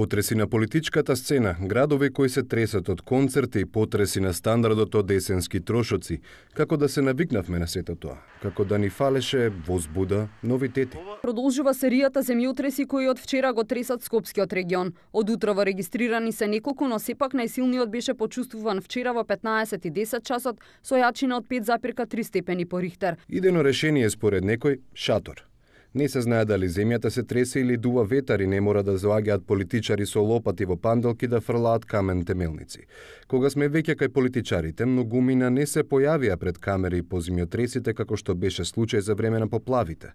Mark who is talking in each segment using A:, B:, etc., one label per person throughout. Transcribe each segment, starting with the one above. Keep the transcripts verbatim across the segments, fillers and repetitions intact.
A: Потреси на политичката сцена, градови кои се тресат од концерти, потреси на стандардот од есенски трошоци, како да се навикнавме на сето тоа, како да ни фалеше возбуда, новитети.
B: Продолжува серијата земјотреси кои од вчера го тресат Скопскиот регион. Од утрово регистрирани се неколку, но сепак најсилниот беше почувствуван вчера во петнаесет и десет часот со јачина од пет запирка три степени по Рихтер.
A: Идено решение според некој шатор. Не се знае дали земјата се тресе или дува ветар и не мора да заоѓаат политичари со лопати во панделки да фрлаат камен темелници. Кога сме веќе кај политичарите, многумина не се појавија пред камери по земјотресите како што беше случај за време на поплавите.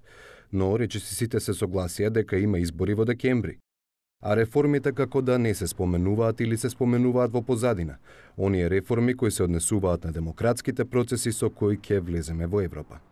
A: Но речисите се согласија дека има избори во декември. А реформите како да не се споменуваат или се споменуваат во позадина. Оние реформи кои се однесуваат на демократските процеси со кои ќе влеземе во Европа.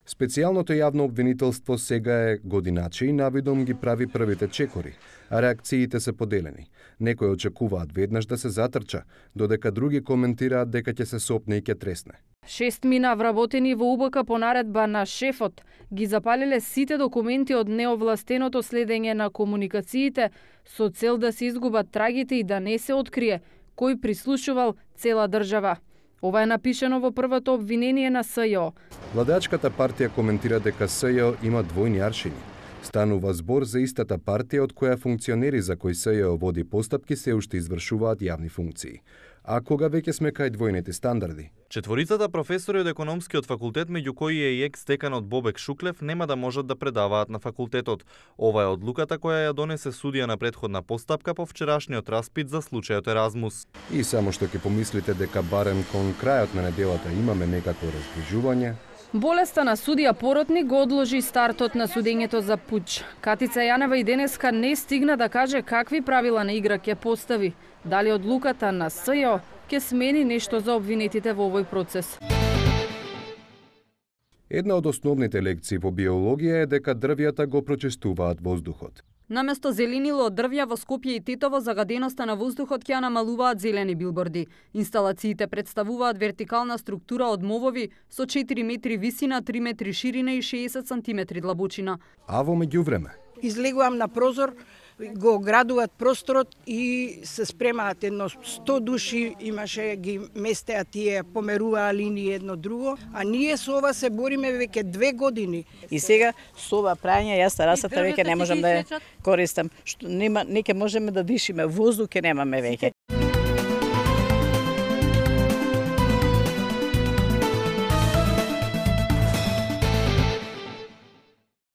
A: Специјалното јавно обвинителство сега е годиначе и навидом ги прави првите чекори, а реакциите се поделени. Некои очекуваат веднаш да се затрча, додека други коментираат дека ќе се сопне и ќе тресне.
C: Шест мина вработени во УБК по наредба на шефот ги запалиле сите документи од неовластеното следење на комуникациите со цел да се изгубат трагите и да не се открие кој прислушувал цела држава. Ова е напишено во првото обвинение на СЈО.
A: Владачката партија коментира дека СЈО има двојни аршини. Станува збор за истата партија од која функционери за кои СЈО води постапки се уште извршуваат јавни функции. А кога веќе сме кај двојните стандарди?
D: Четворицата професори од економскиот факултет, меѓу кои е и екс-деканот Бобек Шуклев, нема да можат да предаваат на факултетот. Ова е одлуката која ја донесе судија на претходна постапка по вчерашниот распит за случајот Еразмус.
A: И само што ќе помислите дека барем кон крајот на неделата имаме некакво разближување,
C: болеста на судија Поротник го одложи стартот на судењето за пуч. Катица Јанева и денеска не стигна да каже какви правила на игра ќе постави. Дали одлуката на СЈО ќе смени нешто за обвинетите во овој процес.
A: Една од основните лекции во биологија е дека дрвјата го прочистуваат воздухот.
B: Наместо зеленило од дрвја во Скопје и Тетово, загаденоста на воздухот ќе ја намалуваат зелени билборди. Инсталациите представуваат вертикална структура од мовови со четири метри висина, три метри ширина и шеесет сантиметри длабочина.
A: А во меѓувреме?
E: Излегувам на прозор, го градуваат просторот и се спремаат едно сто души, имаше ги местеа тие, померуваа линии едно друго, а ние со ова се бориме веќе две години.
F: И сега со ова прање јас расата веќе не можам да ја користам, што нема, не ќе можеме да дишиме, воздух ќе немаме веќе.